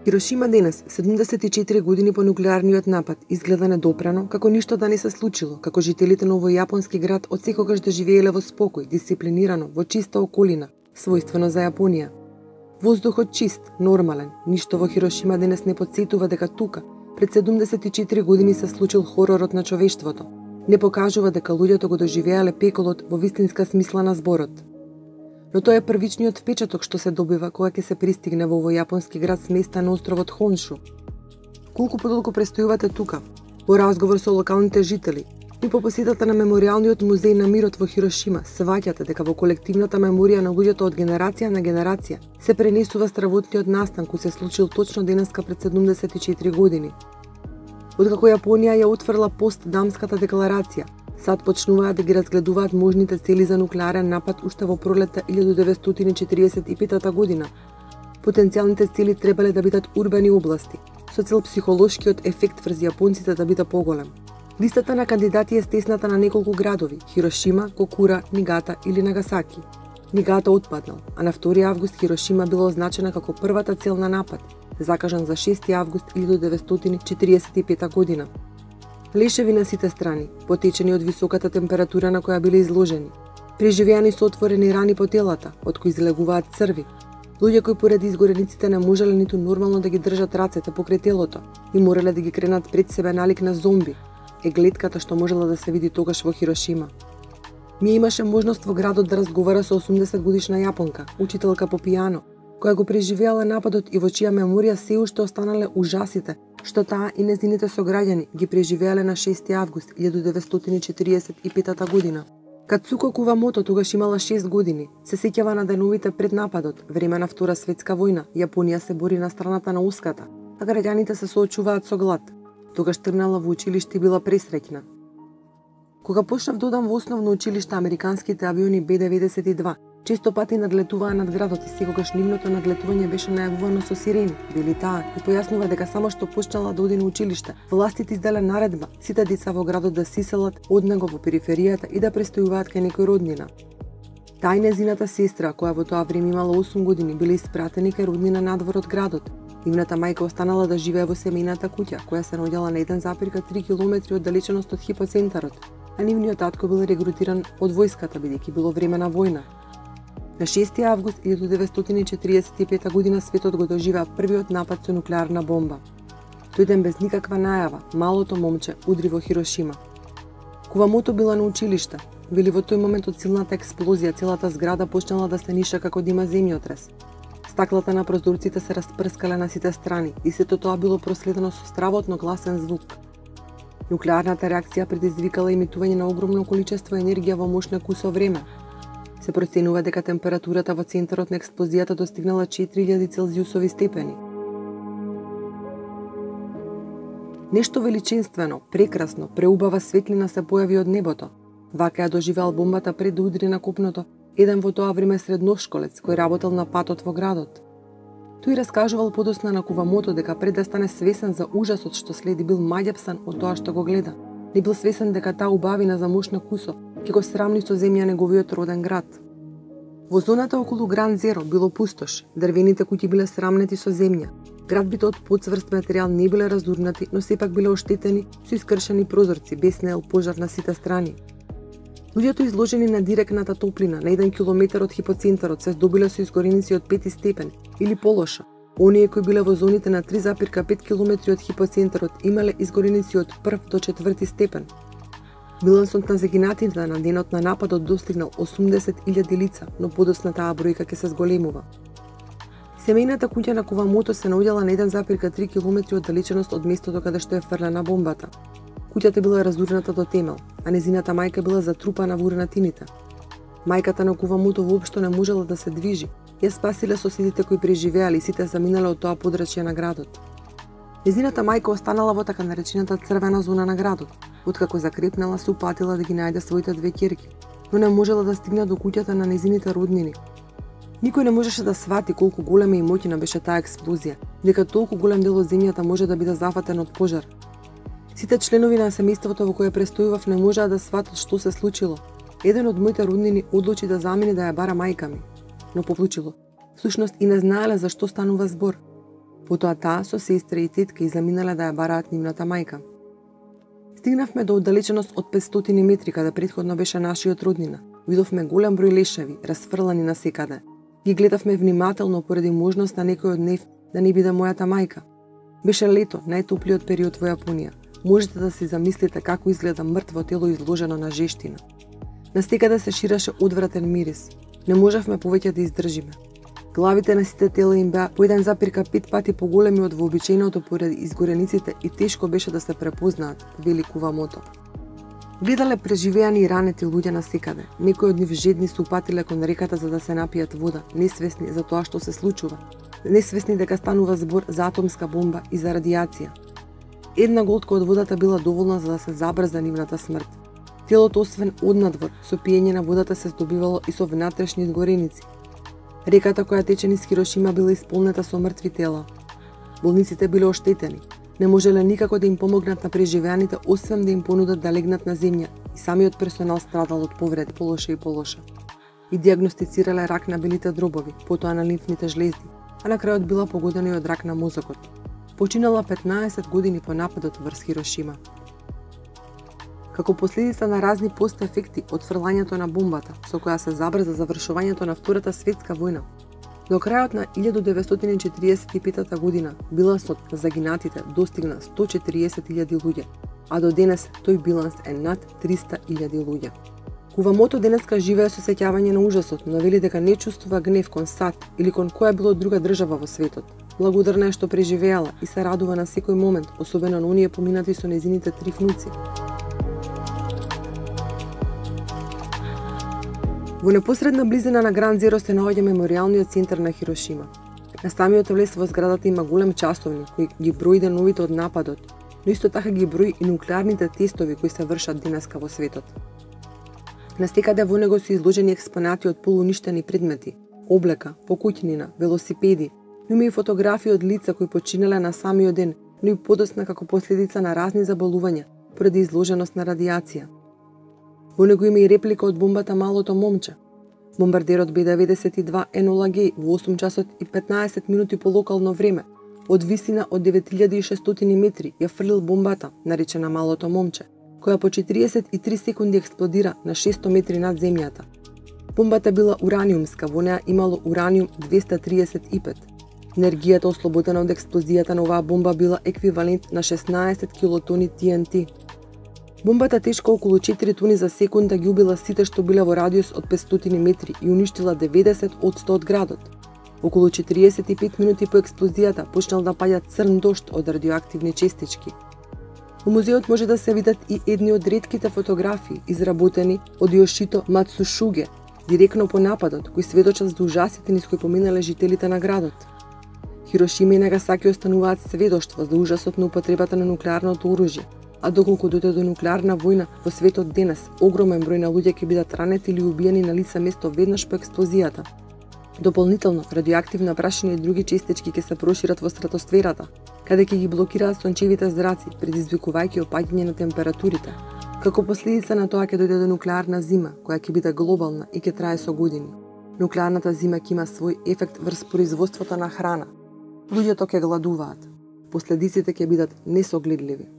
Хирошима денес, 74 години по нуклеарниот напад, изгледа недопрано, како ништо да не се случило, како жителите на овој јапонски град отсекогаш да живееле во спокој, дисциплинирано, во чиста околина, својствено за Јапонија. Воздухот чист, нормален, ништо во Хирошима денес не потсетува дека тука, пред 74 години се случил хоророт на човештвото. Не покажува дека луѓето го доживеале пеколот во вистинска смисла на зборот. Но тоа е првичниот впечаток што се добива кога ќе се пристигне во овој јапонски град сместен на островот Хоншу. Колку подолго престојувате тука? Во разговор со локалните жители и по посетата на меморијалниот музеј на мирот во Хирошима, сваќате дека во колективната меморија на луѓето од генерација на генерација се пренесува стравотниот настан кој се случил точно денеска пред 74 години. Откако Јапонија ја отфрла постдамската декларација, сад почнуваат да ги разгледуваат можните цели за нуклеарен напад уште во пролетта 1945 година. Потенцијалните цели требале да бидат урбани области, со цел психолошкиот ефект врз јапонците да биде поголем. Листата на кандидати е стесната на неколку градови – Хирошима, Кокура, Нигата или Нагасаки. Нигата отпаднал, а на 2 август Хирошима била означена како првата цел на напад, закажан за 6 август 1945 година. Лешеви на сите страни, потечени од високата температура на која биле изложени, преживеани со отворени рани по телата, од кои излегуваат црви, луѓе кои поради изгорениците не можеле ниту нормално да ги држат рацете покрај телото и морале да ги кренат пред себе налик на зомби, е гледката што можела да се види тогаш во Хирошима. Ми имаше можност во градот да разговара со 80 годишна јапонка, учителка по пијано, која го преживеала нападот и во чија меморија се уште останале ужасите што таа и незините сограѓани ги преживеале на 6 август 1945 година. Кацуко Кувамото тогаш имала 6 години. Се сеќава на деновите пред нападот, време на Втора светска војна. Јапонија се бори на страната на Оската, а граѓаните се соочуваат со глад. Тогаш тргнала во училиште и била пресреќна. Кога почнав да одам во основно училиште, американските авиони Б-92 често пати надлетуваа над градот и секогаш нивното надлетување беше најавувано со сирени, вели таа, и појаснува дека само што почнала да оди на училиште, властите изделе наредба сите деца во градот да се иселат од него во периферијата и да престојуваат кај некој роднина. Таа и незината сестра, која во тоа време имала 8 години, биле испратени кај роднина надвор од градот. Нивната мајка останала да живее во семејната куќа, која се наоѓала на 1,3 километри оддалеченост од хипоцентарот, а нивниот татко бил регрутиран од војската бидејќи било време на војна. На 6 август 1945 година светот го доживеа првиот напад со нуклеарна бомба. Тој ден без никаква најава, малото момче удри во Хирошима. Кувамото била на училиште. Вели во тој момент од силната експлозија целата зграда почнала да се ниша како да има земјотрес. Стаклата на прозорците се распрскале на сите страни и сето тоа било проследено со стравотно гласен звук. Нуклеарната реакција предизвикала емитување на огромно количество енергија во мошна кусо време. Се проценува дека температурата во центарот на експлозијата достигнала 4000 целзиусови степени. Нешто величинствено, прекрасно, преубава светлина се појави од небото. Вака ја доживеал бомбата пред да удри на копното еден во тоа време средношколец кој работел на патот во градот. Тој раскажувал подосна на Кувамото дека пред да стане свесен за ужасот што следи бил маѓапсан од тоа што го гледа. Не бил свесен дека таа убавина за мошна кусо ќе го срамни со земја неговиот роден град. Во зоната околу Гранд Зеро било пустош, дрвените куќи биле срамнети со земја. Градбите од подцврст материјал не биле разурнати, но сепак биле оштетени со искршени прозорци, беснеел пожар на сите страни. Луѓето изложени на директната топлина на 1 километар од хипоцентарот се здобиле со изгореници од 5 степен или полошо. Оние кои биле во зоните на 3,5 километри од хипоцентарот имале изгореници од 1 до 4 степен. Билансот на загинатите на денот на нападот достигнал 80.000 лица, но подосна таа бројка ќе се зголемува. Семејната куќа на Кувамото се наоѓала на 1,3 километри оддалеченост од местото каде што е фрлена бомбата. Куќата била разурната до темел, а незината мајка била затрупана во урнатините. Мајката на Кувамото воопшто не можела да се движи. Ја спасиле соседите кои преживеале и сите заминале од тоа подрачје на градот. Незината мајка останала во така наречената црвена зона на градот. Откако закрепнала, се упатила да ги најде своите 2 ќерки, но не можела да стигне до куќата на незините роднини. Никој не можеше да свати колку голема и моќна беше таа експлозија, дека толку голем дел од земјата може да биде зафатен од пожар. Сите членови на семејството во кое престојував не можеа да сватат што се случило. Еден од моите роднини одлучи да замине да ја бара мајка ми, но повлучило. Всушност и не знаеле за што станува збор. Потоа таа со сестра и тетка заминале да ја бараат нивната мајка. Стигнавме до оддалеченост од 500 метри каде претходно беше нашиот роднина. Видовме голем број лешеви, расфрлани насекаде. Ги гледавме внимателно поради можност на некој од нив да не биде мојата мајка. Беше лето, најтоплиот период во Јапонија. Можете да си замислите како изгледа мртво тело изложено на жештина. Настекаде се ширеше одвратен мирис. Не можевме повеќе да издржиме. Главите на сите тела им беа по 1,5 пати поголеми од вообичаеното поради изгорениците и тешко беше да се препознаат, вели Кувамото. Гледале преживеани и ранети луѓе насекаде. Некои од нив жедни се упатиле кон реката за да се напијат вода, несвесни за тоа што се случува. Несвесни дека станува збор за атомска бомба и за радијација. Една голтка од водата била доволна за да се забрза нивната смрт. Телото освен однадвор, со пиење на водата се здобивало и со внатрешни изгореници. Реката која тече низ Хирошима била исполнета со мртви тела. Болниците биле оштетени. Не можеле никако да им помогнат на преживеаните, освен да им понудат да легнат на земја, и самиот персонал страдал од повреди полоша и полоша. И диагностицирале рак на белите дробови, потоа на лимфните жлезди, а на крајот била погодена и од рак на мозокот. Починала 15 години по нападот врз Хирошима. Како последица на разни постефекти од фрлањето на бомбата, со која се забрза завршувањето на Втората светска војна, до крајот на 1945 година билансот на загинатите достигна 140.000 луѓе, а до денес тој биланс е над 300.000 луѓе. Кувамото денеска живее со сеќавање на ужасот, но вели дека не чувствува гнев кон САД или кон која било друга држава во светот. Благодарна е што преживеала и се радува на секој момент, особено на оние поминати со незините 3 внуци. Во непосредна близина на Гранд Зеро се наоѓа меморијалниот центар на Хирошима. На самиот влез во зградата има голем часовник кој ги брои деновите од нападот, но исто така ги брои и нуклеарните тестови кои се вршат денеска во светот. Настекаде во него се изложени експонати од полуништени предмети, облека, покуќнина, велосипеди, но има и фотографии од лица кои починале на самиот ден, но и подосна како последица на разни заболувања поради изложеност на радијација. Во него има и реплика од бомбата Малото момче. Бомбардерот Б-92 Енола Геј во 8 часот и 15 минути по локално време, од висина од 9600 метри, ја фрлил бомбата, наречена Малото момче, која по 43 секунди експлодира на 600 метри над земјата. Бомбата била ураниумска, во неа имало ураниум 235. Енергијата ослободена од експлозијата на оваа бомба била еквивалент на 16 килотони TNT. Бомбата тешка околу 4 тони за секунда ги убила сите што биле во радиус од 500 метри и уништила 90% од градот. Околу 45 минути по експлозијата почнал да паѓа црн дожд од радиоактивни честички. Во музеот може да се видат и едни од ретките фотографии изработени од Јошито Мацушуге, директно по нападот, кои сведочат за ужасите низ кои поминале жителите на градот. Хирошима и Нагасаки остануваат сведоштво за ужасот на употребата на нуклеарното оружје, а доколку дојде до нуклеарна војна во светот денес, огромен број на луѓе ќе бидат ранети или убиени на лице место веднаш по експлозијата. Дополнително, радиоактивна прашина и други честички ќе се прошират во стратосферата, каде ќе ги блокираат сончевите зраци, предизвикувајќи опаѓање на температурите. Како последица на тоа ќе дојде до нуклеарна зима, која ќе биде глобална и ќе трае со години. Нуклеарната зима ќе има свој ефект врз производството на храна. Луѓето ќе гладуваат. Последиците ќе бидат несогледливи.